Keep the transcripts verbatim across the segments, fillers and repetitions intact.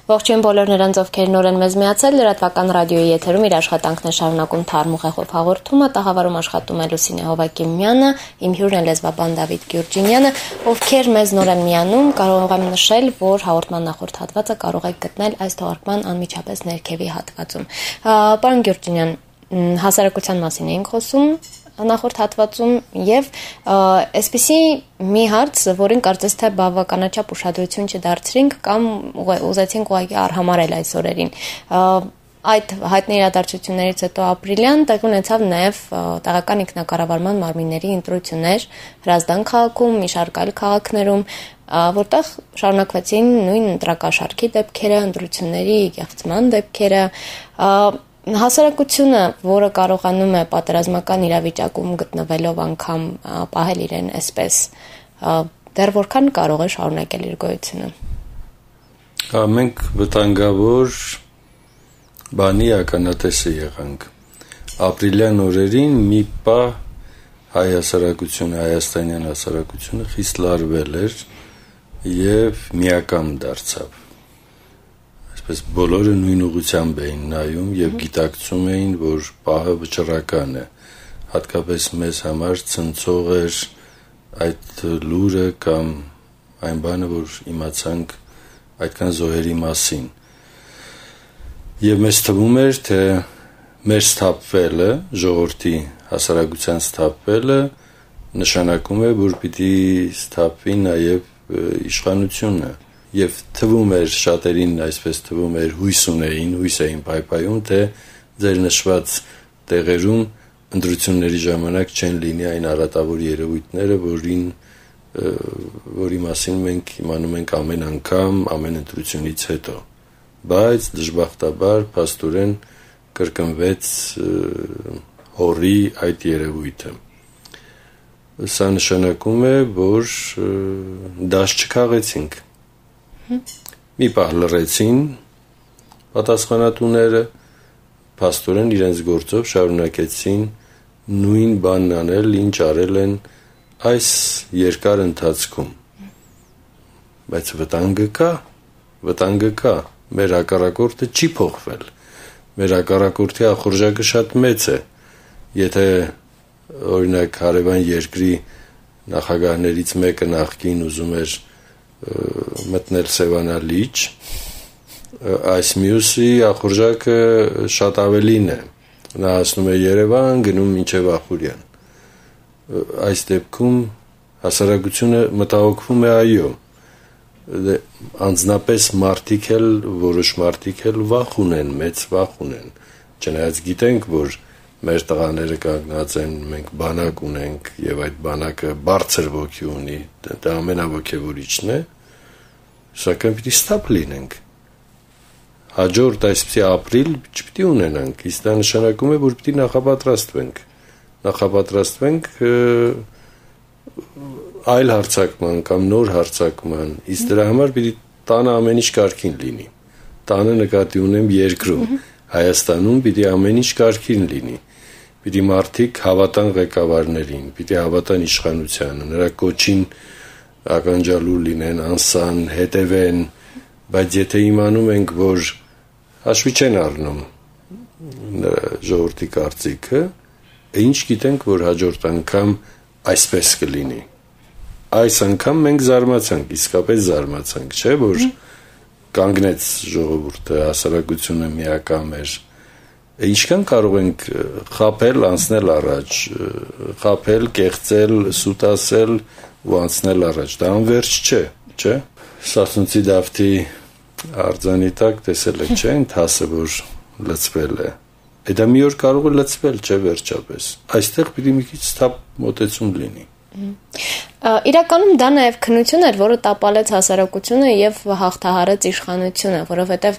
Ողջույն բոլոր նրանց, ովքեր նոր են մեզ միացել, լրատվական ռադիոյի եթերում իր աշխատանքն է շարունակում Թարմ ուղեղով հաղորդումը, տաղավարում աշխատում է Լուսինե Հովակիմյանը, իմ հյուրն է լեզվաբան Դավիթ Գյուրջինյանը, ովքեր մեզ նոր են միանում, կարող եմ նշել, որ հաղորդման նախորդ հատվածը կարող եք գտնել այս թողարկման անմիջապես ներքևի հատվածում։ Պարոն Գյուրջինյան, հասարակության մասին էինք խոսում նախորդ հատվածում եւ այսպիսի մի հարց, որին կարծես թե բավականաչափ ուշադրություն չդարձրինք կամ ուզեցինք ուղղակի արհամարել այս օրերին։ Այդ հայտնի իրադարձություններից հետո ապրիլյան տեղ ունեցավ նաև տեղական ինքնակառավարման մարմինների ընտրություններ Հրազդան քաղաքում, մի շարք այլ քաղաքներում, որտեղ շարունակվեցին նույն ընտրակաշառքի դեպքերը, ընտրությունների կեղծման դեպքերը։ Հասարակությունը, որը կարողանում է պատերազմական իրավիճակում գտնվելով անգամ պահել իրեն այսպես, դեռ որքան կարող է շարունակել իր գոյությունը։ Մենք վտանգավոր բանի ականատեսը եղանք։ Ապրիլյան օրերին մի պահ հայ հասարակությունը, հայաստանյան հասարակությունը խիստ լարվել էր եւ միակամ դարձավ։ Այսպես բոլորը նույն ուղղությամբ էին նայում եւ գիտակցում էին, որ պահը վճռական է։ Հատկապես մեզ համար ցնցող էր այդ լուրը կամ այն բանը, որ իմացանք այդքան զոհերի մասին։ Եվ մեզ թվում էր, թե մեր սթափվելը, ժողովրդի հասարակության սթափվելը նշանակում է, որ պիտի սթափվի նաեւ իշխանությունը։ Եվ թվում էր շատերին այսպես թվում էր հույս ունեին, հույս էին պայպայում, թե ձեր նշված տեղերում ընտրությունների ժամանակ չեն լինի այն արատավոր երևույթները, որին որի մասին մենք իմանում ենք ամեն անգամ, ամեն ընտրությունից հետո։ Բայց դժբախտաբար փաստորեն կրկնվեց հորի այդ երևույթը։ Սա նշանակում է, որ դաշ չքաղեցինք։ Մի պահ լռեցին պատասխանատուները, փաստորեն իրենց գործով շարունակեցին նույն բանն անել, ինչ արել են այս երկար ընթացքում։ Բայց վտանգը կա, վտանգը կա, մեր հակառակորդը չի փոխվել։ Մեր հակառակորդի ախորժակը շատ մեծ է։ Եթե օրինակ հարևան երկրի նախագահներից մեկը նախկին ուզում էր մտնել Սևանա լիճ, այս մյուսի ախորժակը շատ ավելին է։ Նա հասնում է Երևան, գնում մինչև Ախուրյան։ Այս դեպքում հասարակությունը մտահոգվում է, այո, անձնապես մարդիկ էլ, որոշ մարդիկ էլ վախ ունեն, մեծ վախ ունեն։ Չնայած գիտենք, որ մեր տղաները կանգնած են, մենք բանակ ունենք եւ այդ բանակը բարձր ոգի ունի, դա ամենաոգևորիչն է, սակայն պիտի ստապ լինենք։ Հաջորդ այսպիսի ապրիլ չպիտի ունենանք, իսկ դա նշանակում է, որ պիտի նախապատրաստվենք։ Նախապատրաստվենք այլ հարձակման կամ նոր հարձակման, իսկ դրա համար պիտի տանը ամեն ինչ կարգին լինի։ Տանը նկատի ունեմ երկրում, Հայաստանում պիտի ամեն ինչ կարգին լինի։ Պիտի մարդիկ հավատան ղեկավարներին, պիտի հավատան իշխանությանը, նրա կոչին ականջալուր լինեն, անսան, հետևեն, բայց եթե իմանում ենք, որ հաշվի չեն առնում ժողովրդի կարծիքը, ինչ գիտենք, որ հաջորդ անգամ այսպես կլինի։ Այս անգամ մենք զարմացանք, իսկապես զարմացանք, չէ՞, որ կանգնեց ժողովուրդը, հասարակությունը միակամ էր։ Ինչքան կարող ենք խաբել, անցնել առաջ, խաբել, կեղծել, սուտասել ու անցնել առաջ։ Դա անվերջ չէ, չէ՞։ Սասունցի Դավթի արձանի տակ տեսել եք, չէ՞, ընթացը, որ լցվել է։ Դա մի օր կարող է լցվել, չէ՞, վերջապես։ Այստեղ պիտի մի քիչ ստապ մոտեցում լինի։ Իրականում դա նաև քննություն էր, որը տապալեց հասարակությունը եւ հաղթահարեց իշխանությունը, որովհետեւ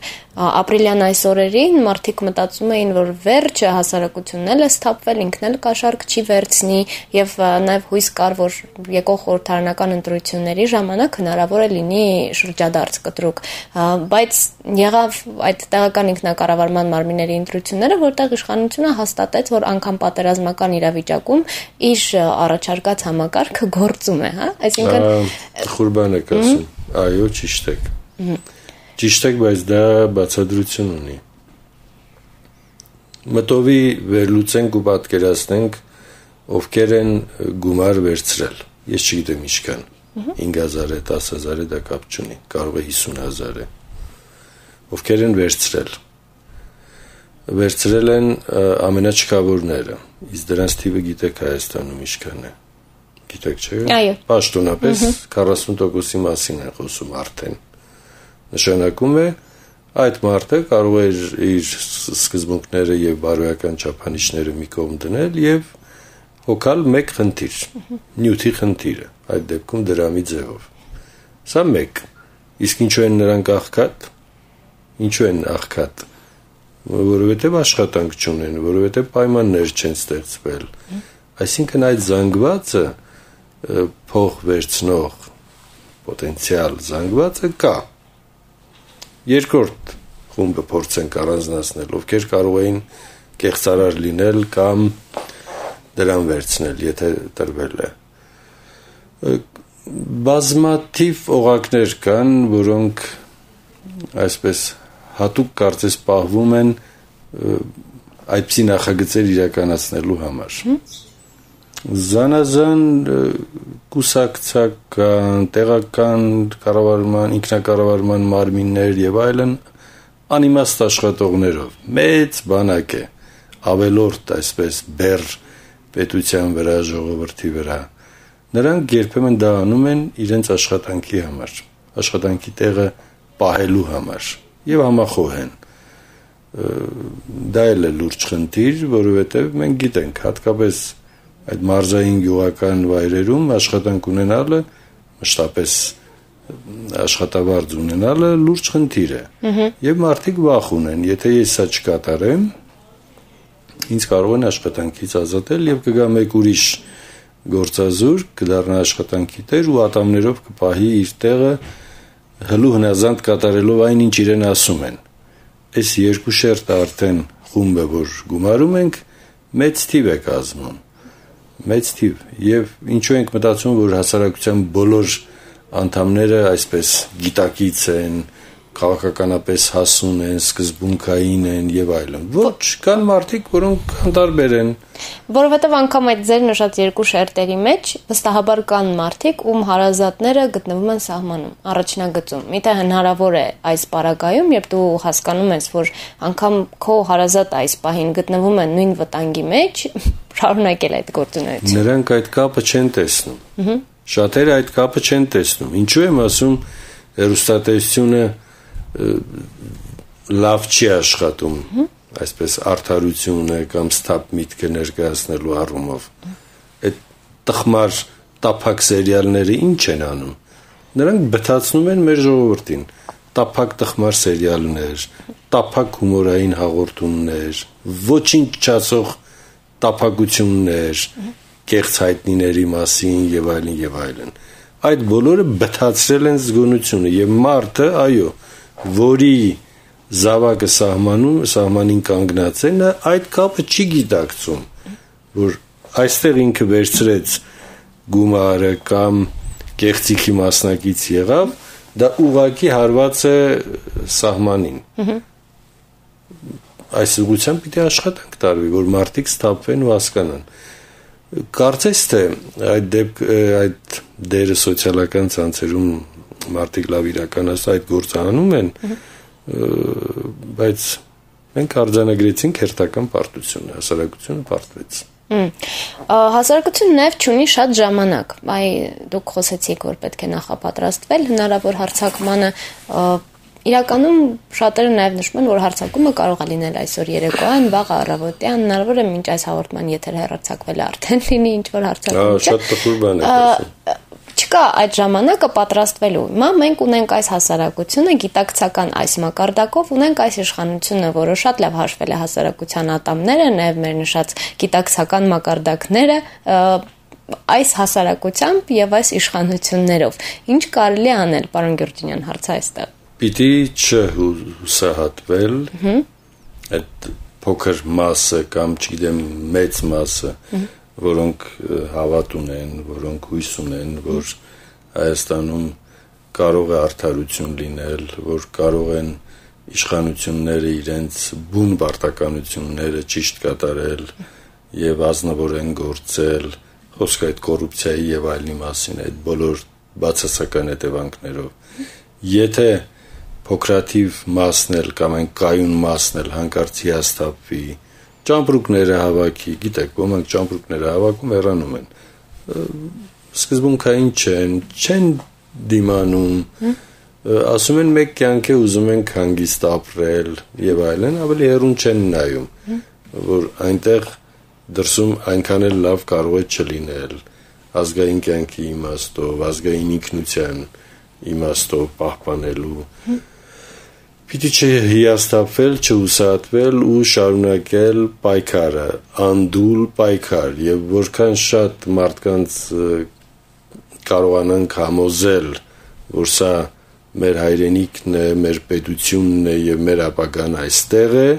ապրիլյան այս օրերին մարդիկ մտածում էին, որ վերջը հասարակությունն էլ է սթափվել, ինքն էլ կաշառք չի վերցնի եւ նաև հույս կար, որ եկող խորհրդարանական ընտրությունների ժամանակ հնարավոր է լինի շրջադարձ կտրուկ, բայց եղավ այդ տեղական ինքնակառավարման մարմինների ընտրությունները, որտեղ իշխանությունը հաստատեց, որ անգամ պատերազմական իրավիճակում իր առաջարկած համակարգը գործում է, հա, այսինքն Խուրբան եք ասում, այո, ճիշտ եք։ Ճիշտ եք, բայց դա բացատրություն ունի։ Մտովի վերլուծենք ու պատկերացնենք ովքեր են գումար վերցրել։ Ես չգիտեմ ինչքան։ հինգ հազար է, դես հազար է, դա կապ չունի, կարող է հիսուն հազար է։ Ովքեր են վերցրել։ Վերցրել են ամենաչքավորները։ Իսկ դրանց թիվը գիտեք Հայաստանում ինչքան է։ Գիտեք, չէ՞։ Այո։ Պաշտոնապես քառասուն տոկոսի մասին է խոսում արդեն։ Նշանակում է այդ մարդը կարող է իր սկզբունքները եւ բարոյական չափանիշները մի կողմ դնել եւ հոգալ մեկ խնդիր, նյութի խնդիրը, այդ դեպքում դրամի ձևով։ Սա մեկ։ Իսկ ինչու են նրանք աղքատ։ Ինչու են աղքատ։ Որովհետեւ աշխատանք չունեն, որովհետեւ պայմաններ չեն ստեղծվել։ Այսինքն այդ զանգվածը փող վերցնող պոտենցիալ զանգվածը կա։ Երկրորդ խումբը փորձենք առանձնացնել, ովքեր կարող էին կեղծարար լինել կամ դրան վերցնել, եթե տրվել է։ Բազմաթիվ օղակներ կան, որոնք այսպես հատուկ կարծես պահվում են այդպիսի նախագծեր իրականացնելու համար։ Զանազան կուսակցական, տեղական կառավարման, ինքնակառավարման մարմիններ եւ այլն անիմաստ աշխատողներով մեծ բանակ է, ավելորդ այսպես բեր պետության վրա, ժողովրդի վրա։ Նրանք երբեմն դա անում են իրենց աշխատանքի համար, աշխատանքի տեղը պահելու համար եւ համախոհ են։ Դա էլ է լուրջ խնդիր, որովհետեւ մենք գիտենք, հատկապես այդ մարզային գյուղական վայրերում աշխատանք ունենալը, մշտապես աշխատավարձ ունենալը լուրջ խնդիր է։ Եվ մարդիկ վախ ունեն, եթե ես սա չկատարեմ, ինձ կարող են աշխատանքից ազատել եւ կգա մեկ ուրիշ գործազուրկ, կդառնա աշխատանքի տեր ու ատամներով կպահի իր տեղը հլու հնազանդ կատարելով այն, ինչ իրեն ասում են։ Այս երկու շերտը արդեն խումբը, որ գումարում ենք, մեծ թիվ է կազմում։ Մեծ թիվ եւ ինչու ենք մտածում, որ հասարակության բոլոր անդամները այսպես գիտակից են, քաղաքականապես հասուն են, սկզբունքային են եւ այլն։ Ոչ, կան մարդիկ, որոնք անտարբեր են։ Որովհետեւ անգամ այդ ձեր նշած երկու շերտերի մեջ վստահաբար կան մարդիկ, ում հարազատները գտնվում են սահմանում, առաջնագծում։ Միթե հնարավոր է այս պարագայում, երբ դու հասկանում ես, որ անգամ քո հարազատ այս պահին գտնվում են նույն վտանգի մեջ, շարունակել այդ գործունեությունը։ Նրանք այդ կապը չեն տեսնում։ Շատերը այդ կապը չեն տեսնում։ Ինչու եմ ասում, հեռուստատեսությունը լավ չի աշխատում, այսպես արդարությունը կամ սթափ միտքը ներկայացնելու առումով։ Այդ տխմար տափակ սերիալները ինչ են անում։ Նրանք բթացնում են մեր ժողովրդին։ Տափակ տխմար սերիալներ, տափակ հումորային հաղորդումներ, ոչինչ չասող տափակություններ, կեղծ հայտնիների մասին եւ այլն եւ այլն։ Այդ բոլորը բթացրել են զգոնությունը եւ մարդը, այո, որի զավակը սահմանում, սահմանին կանգնած է, նա այդ կապը չի գիտակցում, որ այստեղ ինքը վերցրեց գումարը կամ կեղծիքի մասնակից եղավ, դա ուղղակի հարված է սահմանին։ Այս ուղղությամբ պիտի աշխատանք տարվի, որ մարդիկ սթափվեն ու հասկանան։ Կարծես թե այդ դեպք այդ դերը սոցիալական ցանցերում մարդիկ լավ իրականացնում այդ գործը անում են, բայց մենք արձանագրեցինք հերթական պարտությունը, հասարակությունը պարտվեց։ Հասարակությունը նաև չունի շատ ժամանակ։ Այ դուք խոսեցիք, որ պետք է նախապատրաստվել հնարավոր հարձակմանը։ Իրականում շատերը նաև նշում են, որ հարձակումը կարող է լինել այսօր երեկոյան, վաղ առավոտյան, հնարավոր է մինչ այս հաղորդման եթերը հեռարձակվել արդեն լինի ինչ-որ հարձակում։ Շատ տխուր բան է խոսում։ Չկա այդ ժամանակը պատրաստվելու։ Հիմա մենք ունենք այս հասարակությունը, գիտակցական այս մակարդակով, ունենք այս իշխանությունը, որը շատ լավ հաշվել է հասարակության ատամները, նաև մեր նշած գիտակցական մակարդակները, այս հասարակությամբ եւ այս իշխանություններով։ Ինչ կարելի է անել, պարոն Գյուրջինյան, հարցը այստեղ։ Պիտի չհուսահատվել այդ փոքր մասը կամ չգիտեմ մեծ մասը, որոնք հավատ ունեն, որոնք հույս ունեն, որ Հայաստանում կարող է արդարություն լինել, որ կարող են իշխանությունները իրենց բուն պարտականությունները ճիշտ կատարել եւ ազնվորեն գործել, խոսքը այդ կոռուպցիայի եւ այլնի մասին, այդ բոլոր բացասական հետևանքներով։ Եթե փոքրաթիվ մասն էլ կամ այն կայուն մասն էլ հանկարծ հիասթափվի, ճամպրուկները հավաքի, գիտեք, ոմանք ճամպրուկները հավաքում հեռանում են։ Սկզբունքային չեն, չեն դիմանում, ասում են մեկ կյանք է ուզում ենք հանգիստ ապրել եւ այլն, ավելի հեռուն չեն նայում, որ այնտեղ դրսում այնքան էլ լավ կարող է չլինել, ազգային կյանքի իմաստով, ազգային ինքնության իմաստով պահպանելու։ Պիտի չհիասթափվել, չհուսահատվել ու շարունակել պայքարը, անդուլ պայքար, եւ որքան շատ մարդկանց կարողանանք համոզել, որ սա մեր հայրենիքն է, մեր պետությունն է եւ մեր ապագան այստեղ է,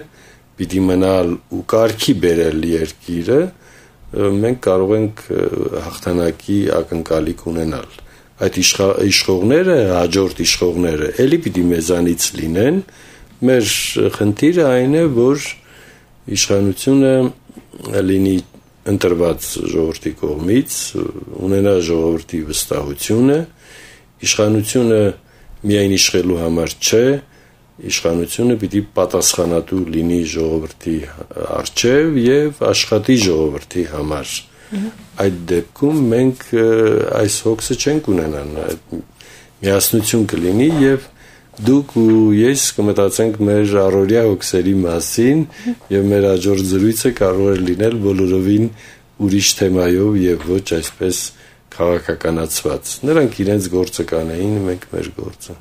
պիտի մնալ ու կարգի բերել երկիրը, մենք կարող ենք հաղթանակի ակնկալիք ունենալ։ Այդ իշխողները, հաջորդ իշխողները էլի պիտի մեզանից լինեն, մեր խնդիրը այն է, որ իշխանությունը լինի ընտրված ժողովրդի կողմից, ունենա ժողովրդի վստահությունը, իշխանությունը միայն իշխելու համար չէ, իշխանությունը պիտի պատասխանատու լինի ժողովրդի առջև եւ աշխատի ժողովրդի համար։ Այդ դեպքում մենք այս հոգսը չենք ունենան, միասնություն կլինի եւ դուք ու ես կմտածենք մեր առօրյա հոգսերի մասին եւ մեր հաջորդ զրույցը կարող է լինել բոլորովին ուրիշ թեմայով եւ ոչ այսպես քաղաքականացված։ Նրանք իրենց գործը կանեին, մենք մեր գործը։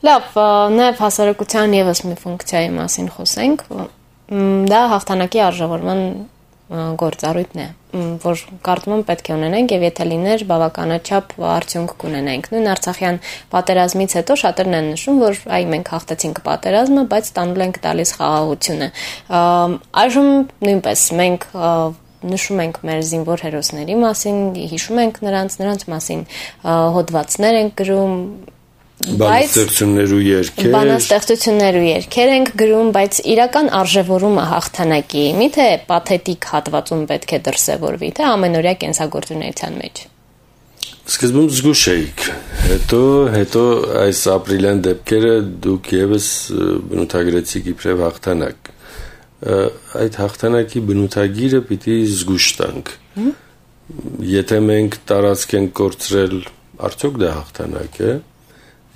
Լավ, նաեւ հասարակության եւս մի ֆունկցիայի մասին խոսենք, դա հաղթանակի արժևորման գործառույթն է, որ կարծում եմ պետք է ունենենք եւ եթե լիներ բավականաչափ արդյունք կունենայինք։ Նույն Արցախյան պատերազմից հետո շատերն են նշում, որ այ մենք հաղթեցինք պատերազմը, բայց տանուլ ենք տալիս խաղաղությունը։ Այժմ նույնպես մենք նշում ենք մեր զինվոր հերոսների մասին, հիշում ենք նրանց, նրանց մասին հոդվածներ ենք գրում, բանաստեղծություններ ու երգեր, բանաստեղծություններ ու երգեր ենք գրում, բայց իրական արժևորումը հաղթանակի միթե պաթետիկ հատվածում պետք է դրսևորվի, թե ամենօրյա կենսագործունեության մեջ։ Սկզբում զգուշ էիք, հետո հետո այս ապրիլյան դեպքերը դուք եւս բնութագրեցիք իբրև հաղթանակ։ Այդ հաղթանակի բնութագիրը պիտի զգուշ տանք։ Եթե մենք տարածք ենք կորցրել, արդյոք դա հաղթանակ է։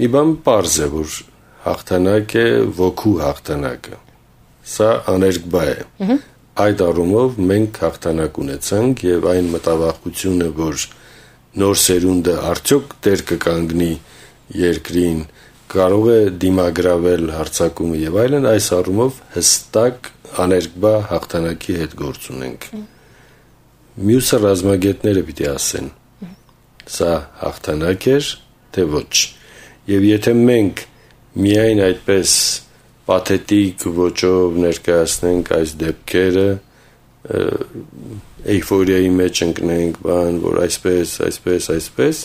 Մի բան պարզ է, որ հաղթանակ է ոգու հաղթանակը։ Սա աներկբա է։ Այդ առումով մենք հաղթանակ ունեցանք եւ այն մտավախությունը, որ նոր սերունդը արդյոք դեր կկանգնի երկրին, կարող է դիմագրավել հարձակումը եւ այլն, այս առումով հստակ աներկբա հաղթանակի հետ գործ ունենք։ Մյուսը ռազմագետները պիտի ասեն, սա հաղթանակ էր, թե ոչ։ Եվ եթե մենք միայն այդպես պաթետիկ ոճով ներկայացնենք այս դեպքերը, էյֆորիայի մեջ ընկնենք, բան, որ այսպես, այսպես, այսպես,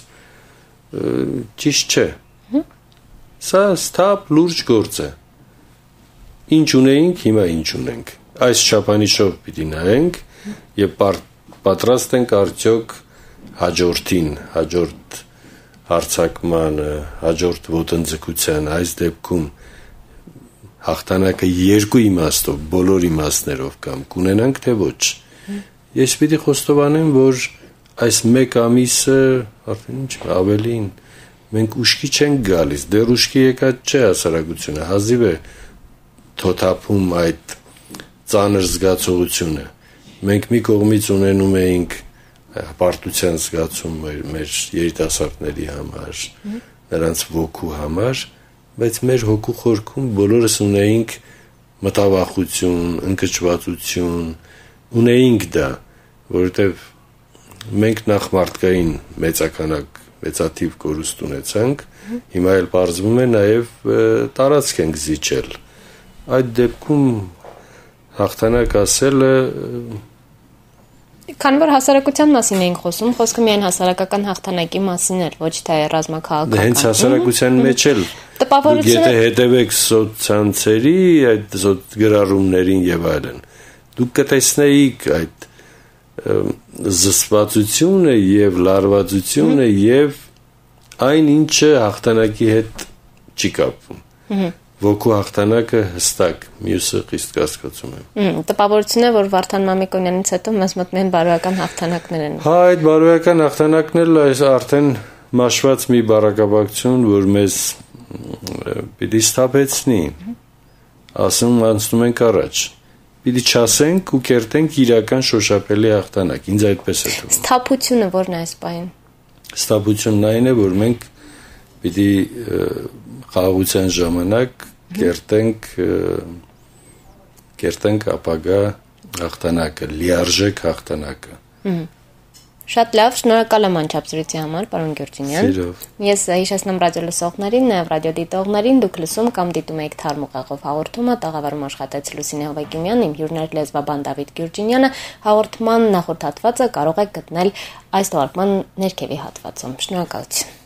ճիշտ չէ։ Սա սթափ լուրջ գործ է։ Ինչ ունեինք, հիմա ինչ ունենք։ Այս չափանիշով պիտի նայենք եւ պատրաստ ենք արդյոք հաջորդին, հաջորդ հարցակմանը, հաջորդ ոտնձգության, այս դեպքում հաղթանակը երկու իմաստով, բոլոր իմաստներով կամ կունենանք, թե ոչ։ Ես պիտի խոստովանեմ, որ այս մեկ ամիսը արդեն ինչ ավելին մենք ուշքի չենք գալիս, դեռ ուշքի եկած չէ հասարակությունը, հազիվ է թոթափում այդ ծանր զգացողությունը։ Մենք մի կողմից ունենում էինք հպարտության զգացում մեր, մեր երիտասարդների համար, նրանց ոգու համար, բայց մեր հոգու խորքում բոլորս ունեինք մտավախություն, ընկճվածություն, ունեինք դա, որովհետև մենք նախ մարդկային մեծականակ մեծաթիվ կորուստ ունեցանք, հիմա էլ պարզվում է նաև տարածք ենք զիջել։ Այդ դեպքում հաղթանակ ասելը Քանի որ հասարակության մասին էինք խոսում, խոսքը միայն հասարակական հաղթանակի մասին էր, ոչ թե ռազմաքաղաքական։ Հենց հասարակության մեջ էլ տպավորությունը եթե հետևեք սոցցանցերի այդ գրառումներին եւ այլն, դուք կտեսնեիք այդ զսպվածությունը եւ լարվածությունը եւ այն ինչը հաղթանակի հետ չի կապվում։ Ոգու հաղթանակը հստակ, մյուսը խիստ կասկածում եմ։ Տպավորություն է, որ Վարդան Մամիկոնյանից հետո մեզ մոտ միայն բարոյական հաղթանակներ են։ Հա, այդ բարոյական հաղթանակներն այս արդեն մաշված մի բարակապակցություն, որ մեզ պիտի սթափեցնի, ասում անցնում ենք առաջ։ Պիտի չասենք ու կերտենք իրական շոշափելի հաղթանակ։ Ինձ այդպես է թվում։ Սթափությունը ո՞րն է այս պահին։ Սթափությունն այն է, որ մենք պիտի խաղաղության ժամանակ կերտենք կերտենք ապագա հաղթանակը, լիարժեք հաղթանակը։ Շատ լավ, շնորհակալ եմ անչափսրույցի համար, պարոն Գյուրջինյան։ Սիրով։ Ես հիշեցնում ռադիո լսողներին, նաև ռադիո դիտողներին, դուք լսում կամ դիտում եք Թարմ ուղեղով հաղորդումը, տաղավարում աշխատեց Լուսինե Հովակիմյանն, իմ հյուրն էր լեզվաբան Դավիթ Գյուրջինյանը։ Հաղորդման նախորդ հատվածը կարող եք գտնել այս թողարկման ներքևի հատվածում։ Շնորհակալություն։